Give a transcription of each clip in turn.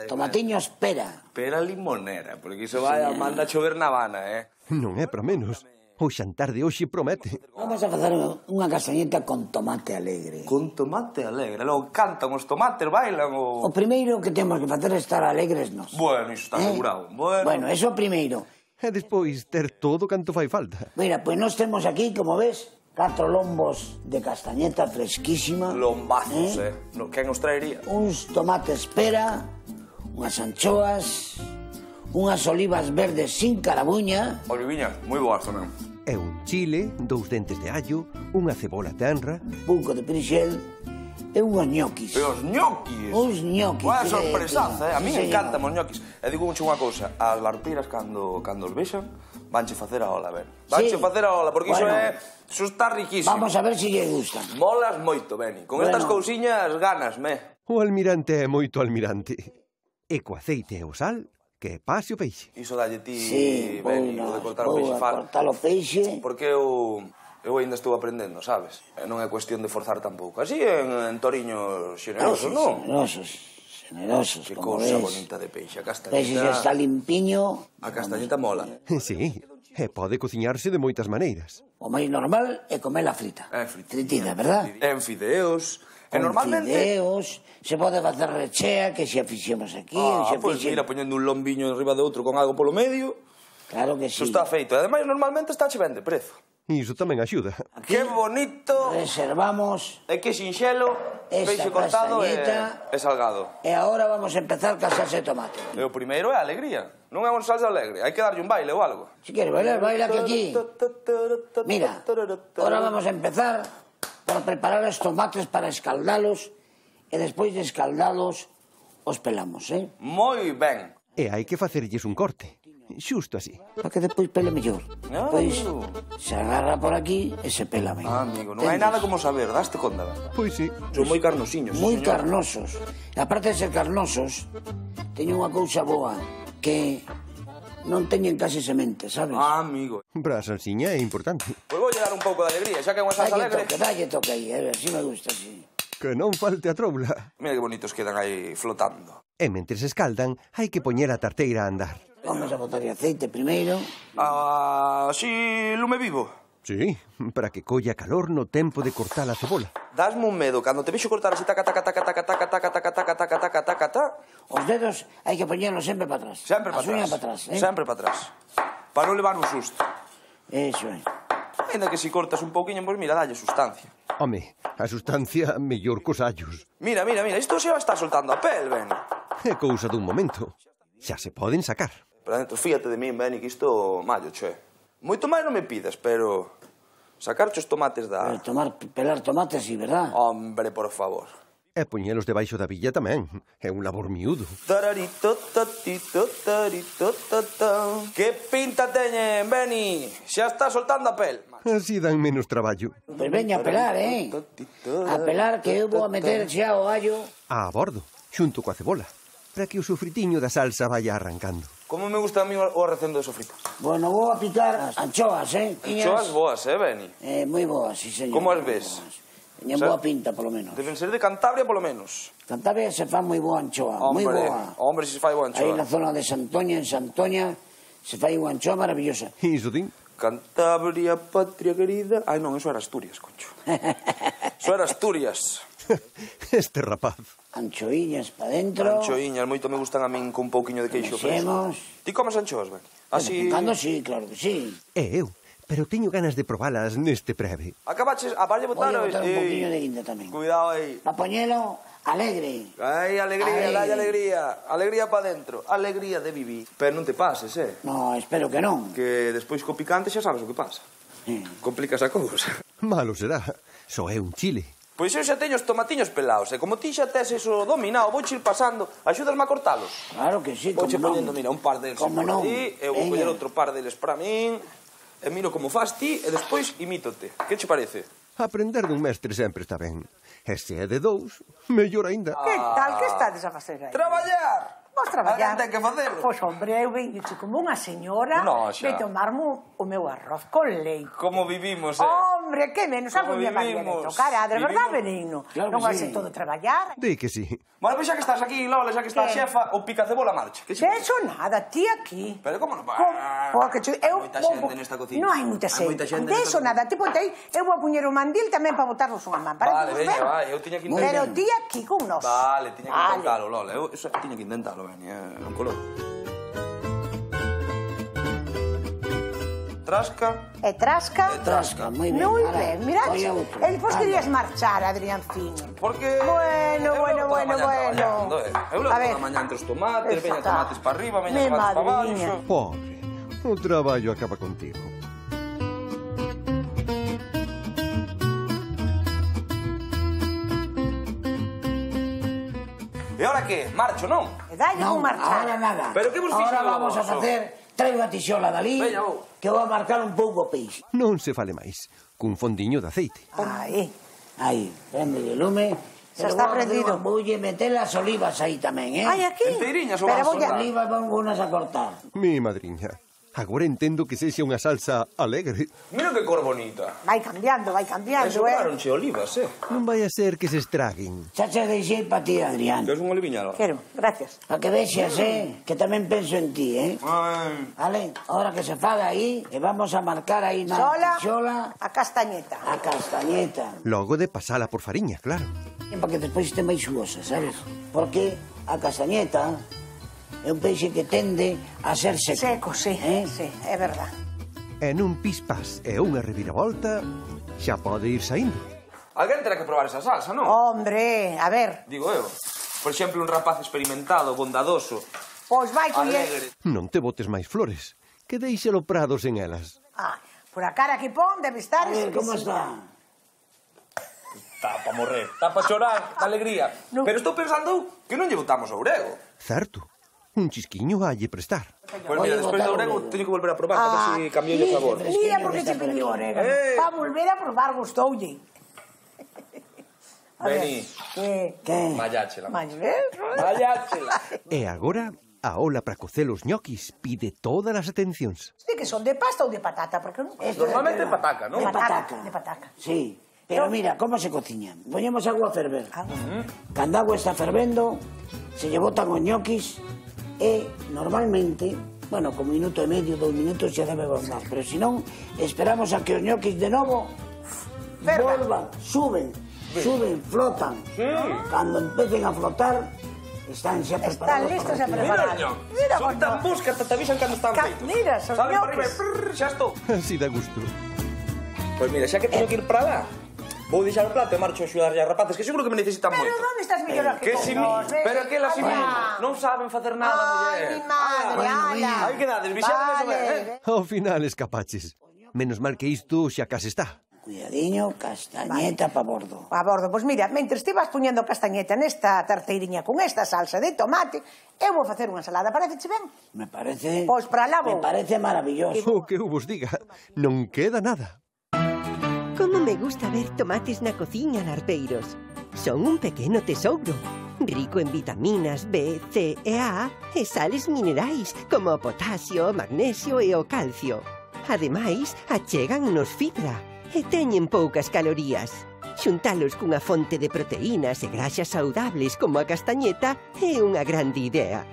Tomatiños pera. Pera limonera, porque iso vai a manda chover na Habana, Non é para menos. O xantar de hoxe promete. Vamos a facer unha castañeta con tomate alegre. Con tomate alegre. Logo cantan os tomates, bailan o... O primeiro que temos que facer é estar alegres nós. Bueno, iso está asegurado. Bueno, eso o primeiro. E despois ter todo canto fai falta. Mira, pois nós temos aquí, como ves, 4 lombos de castañeta fresquísima. Lombazos, Quen os traería? Uns tomates pera, unhas anchoas, unhas olivas verdes sin carabuña. Oliviñas, moi boas tamén. E un chile, 2 dentes de allo, unha cebola tenra... Un pouco de perixel e unhos ñoquis. E os ñoquis? Uns ñoquis. Boa sorpresaza, A mí Sí, encantan os ñoquis. E digo unha cousa, as larpiras cando os vexan, vanche facer a ola, ben. Vanche facer a ola, porque iso iso está riquísimo. Vamos a ver se lle gustan. Molas moito, Beni. Con estas cousiñas ganasme. O almirante é moito almirante. E co aceite e o sal, que pase o peixe. Iso dalle ti, Sí, Beni, o de cortar o peixe fal. cortar o peixe. Porque eu ainda estou aprendendo, sabes? E non é cuestión de forzar tampouco. Así en toriños xenerosos, non? Xenerosos, Que como cousa ves. bonita de peixe, a Peixe castañeta. xa está limpiño. A castañeta mola. Sí, e pode cociñarse de moitas maneiras. O máis normal é comela frita. Frita. Fritida, verdad? En fideos. E Con normalmente... fideos, se pode facer rechea, que xa fixemos aquí. Pois mira, poñendo un lombiño enriba de outro con algo polo medio. Claro que sí. Iso está feito. E ademais, normalmente está che ben de prezo. Iso tamén axuda. Que bonito. Reservamos E que sinxelo. esta Peixe cortado castañeta. e salgado. E agora vamos a empezar ca salsa de tomate. E o primeiro é a alegría. Non é unha salsa alegre. Hai que darlle un baile ou algo. Si queres bailar, baila que aquí. Mira, ahora vamos a empezar por preparar os tomates para escaldalos e despois de escaldalos os pelamos, Moi ben. E hai que facerlles un corte. Xusto así. Para que despois pele mellor. Pois se agarra por aquí e se pela ben. Amigo, non hai nada como saber, daste conta. Pois sí. Son moi carnosiños. Moi carnosos. E aparte de ser carnosos, teñen unha cousa boa, que non teñen case semente, sabes? Amigo. Para a salsiña é importante. Pois vou dar un pouco de alegría, xa que é unha salsa alegre. Dalle toque aí, así me gusta, así. Que non falte a troula. Mira que bonitos quedan aí flotando. E mentres escaldan, hai que poñer a tarteira a andar. Vamos a botar aceite primeiro. Si lume vivo. Sí, para que colla calor no tempo de cortar a cebola. Dasme un medo, cando te vexo cortar así taca, taca, taca, taca, taca, taca, taca, taca, taca, taca, taca, taca. Os dedos hai que poñerlos sempre para atrás. Sempre para As uñas para atrás. atrás, Sempre para atrás. Para non levar un susto. Eso é. Ainda que si cortas un pouquiño, pois mira, dalle sustancia. Home, a sustancia mellor cos allos. Mira, isto xa está soltando a pel, Ben. É cousa dun momento. Xa se poden sacar. Pero dentro, fíjate de min, Beni, que isto mallo, che. Moito máis non me pidas, pero... Sacarche os tomates da... Pelar tomates, sí, verdad? Hombre, por favor. E poñelos debaixo da villa tamén. É un labor miúdo. Que pinta teñen, Beni? Xa está soltando a pel. Así dan menos traballo. Pois veña a pelar, A pelar, que eu vou a meter xa o allo. A bordo, xunto coa cebola, para que o sofritiño da salsa vaya arrancando. Como me gusta a mí o recendo de sofrito. Bueno, vou a picar as anchoas, Anchoas boas, Beni? Moi boas, sí, señor. Como as ves? Teñen boa pinta, polo menos. Deben ser de Cantabria, polo menos. Cantabria se fa moi boa anchoa, moi boa. Hombre, se fai boa anchoa. Aí na zona de Santoña, en Santoña, se fai unha anchoa maravillosa. Iso din. Cantabria, patria querida... Ai, non, eso era Asturias, concho. Eso era Asturias. Este rapaz. Anchoiñas pa dentro. Anchoiñas, moito me gustan a min con un pouquiño de queixo fresco. Ti comes anchoas, Ben? Así... Cando sí, claro que sí. E eu, pero teño ganas de probalas neste breve. Acabaches, valle botar... Voy a botar un pouquiño de guinda tamén. Cuidado aí. Pa poñelo alegre. Ai, alegría, dalle alegría. Alegría pa dentro. Alegría de vivir. Pero non te pases, No, espero que non. Que despois co picante xa sabes o que pasa. Complicas a cousa. Malo será. Só é un chile. Pois eu xa teño os tomatiños pelados, e como ti xa tes eso dominado, vou ir pasando, axúdasme a cortalos? Claro que sí, como non. Vouche poñendo, mira, un par deles por ti, eu vou poñer outro par deles para min, e miro como faz ti, e despois imítote. Que che parece? Aprender dun mestre sempre está ben. E se é de dous, mellor aínda. Que tal, que estades a facer aí? Traballar! Vos traballar? Ten que facelo. Pois, hombre, eu venho como unha señora de tomarme o meu arroz con leite. Como vivimos, Oh, Hombre, que menos algo día María de tocar, de verdad, Benigno. Non vai ser todo traballar. Di que sí. Bueno, pois xa que estás aquí, Lola, xa que estás xefa, o picacebola marcha. De eso nada, ti aquí. Pero como non va? Porque hai moita xente nesta cociña. Non hai moita xente. De eso nada, ti ponte aí, eu vou poñer o mandil tamén para botarnos unha man. Vale, veña, vai, eu tiña que intentar. Pero ti aquí con nós. Vale, tiña que intentalo, Lola. Eu tiña que intentalo, veña, non colou. Trasca. E trasca. E trasca, moi ben. Moi ben, mirad. E despois querías marchar, Adriancino. Porque... Bueno. Eu levo toda a mañá entre os tomates, veña tomates para arriba, veña tomates para baixo. Pobre, o traballo acaba contigo. E ora que? Marcho, non? E dalle con marchar. Ahora nada. Pero que vos fixen Ahora vamos a vos? facer... Traigo a tixola dali, que vou a marcar un pouco o peixe. Non se fale máis, cun fondiño de aceite. Aí, prende o lume. Xa está prendido. Voulle meter as olivas aí tamén, Ai, aquí. Enteiriñas ou Pero vas as olivas van unas a cortar. Mi madriña, agora entendo que sexa unha salsa alegre. Mira que cor bonita. Vai cambiando, E sobraronche olivas, Non vai a ser que se estraguen. Xa che deixei pa ti, Adrián. Queres un oliviñalo? Quero, gracias. Pa que vexas, que tamén penso en ti, Ai. Vale, ahora que se faga aí, e vamos a marcar aí na tixola a castañeta. a castañeta. Logo de pasala por fariña, claro. Para que despois este máis xugosa, sabes? Porque a castañeta é un peixe que tende a ser seco. Seco, sí, sí, é verdad. E nun pispás e unha reviravolta, xa pode ir saindo. Alguén terá que probar esa salsa, non? Hombre, a ver. Digo eu. Por exemplo, un rapaz experimentado, bondadoso, Pois vai coller... alegre. Non te botes máis flores, que deixe-lo prado sen elas. Por a cara que pon debe estar... A ver, como está? Está pa morrer, está pa chorar, de alegría. Pero estou pensando que non lle botamos ourego. Certo, un chisquiño halle prestar. Pois mira, despois do ourego teño que volver a probar para ver se cambiou o sabor. Mira porque che pediu orégano. Va volver a probar, gustoulle. Vení. Que? Malláchela. Malláchela. E agora, a ola para cocer os ñoquis pide todas as atencións. Sí, que son de pasta ou de patata, porque non... Normalmente pataca, non? De pataca. De pataca. Sí. Pero mira, como se cociñan. Poñemos agua a ferver. Cando a agua está fervendo, se lle botan os ñoquis e normalmente, bueno, con minuto e medio, 2 minutos xa debe volver. Pero se non, esperamos a que os ñoquis de novo volvan, suben, flotan. Cando empecen a flotar, están xa preparados. Están listos a preparar. Mira, son tan bus que hasta te avisan cando están feitos. Mira, son Salen para arriba ñoquis. e xa estou. Así da gusto. Pois mira, xa que teño que ir para lá, vou deixar o plato e marcho a axudarlle a rapaces, que seguro que me necesitan moito. Pero onde estás mellor aquí Que con si nós? Pero que las non saben facer nada, muller. Ai, mi madre, ala. Aí quedades, vixades eso, Vale. Ao final escapaches. Menos mal que isto xa case está. Cuidadiño, castañeta pa bordo. A bordo, pois mira, mentre estivas poñendo castañeta nesta tarteiriña con esta salsa de tomate, eu vou facer unha ensalada, parecece ben? Me parece... Pois para lá vou. Me parece maravilloso. O que eu vos diga, non queda nada. Como me gusta ver tomates na cociña, larpeiros. Son un pequeno tesouro, rico en vitaminas B, C e A e sales minerais como o potasio, o magnesio e o calcio. Ademais, achegannos fibra e teñen poucas calorías. Xuntalos cunha fonte de proteínas e graxas saudables como a castañeta é unha grande idea.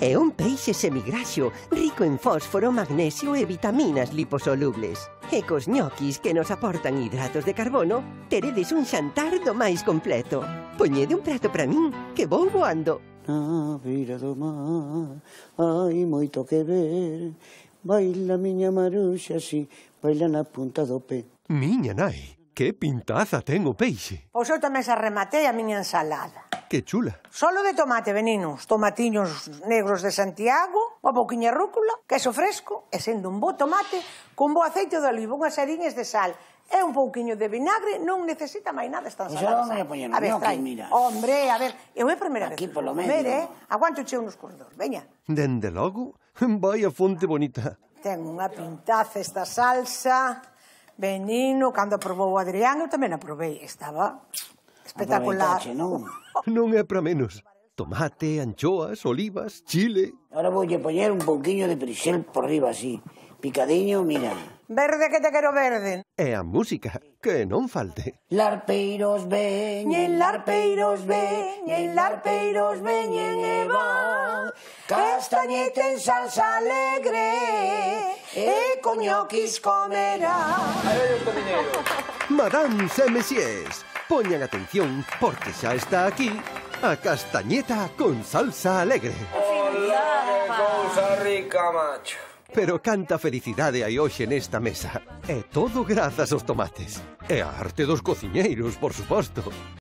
É un peixe semigraxo, rico en fósforo, magnesio e vitaminas liposolubles. E cos ñoquis que nos aportan hidratos de carbono, teredes un xantar do máis completo. Poñede un prato para min, que vou voando. Na beira do mar hai moito que ver. Baila miña Maruxa así, baila na punta do pé. Miña nai, que pintaza ten o peixe. Pois eu tamén xa rematei a miña ensalada. Que chula. Solo de tomate, veninos, tomatiños negros de Santiago, unha pouquiña rúcula, queso fresco, e sendo un bo tomate, con bo aceite de oliva, unhas ariñas de sal, e un pouquiño de vinagre, non necesita máis nada esta ensalada. Pois agora vamos a poñer os ñoquis, mira. Hombre, a ver, eu é a primeira vez. Aquí polo medio. Ver, aguantoche unos corredor, veña. Dende logo, vai a fonte bonita. Ten unha pintaza esta salsa, venino, cando aprobou o Adrián, eu tamén a probei, estaba espectacular. Aproveitache, non? Non é para menos. Tomate, anchoas, olivas, chile... Ahora voulle poñer un pouquiño de perixel por riba así, Picadiño, mira. Verde que te quero verde. E a música, que non falte. Larpeiros veñen, larpeiros veñen e van. Castañete en salsa alegre e coñoquis comerá. Madames e messieurs, poñan atención porque xa está aquí a castañeta con salsa alegre. Hola, que cousa rica, macho. Pero canta felicidade hai hoxe nesta mesa. E todo grazas aos tomates. E a arte dos cociñeiros, por suposto.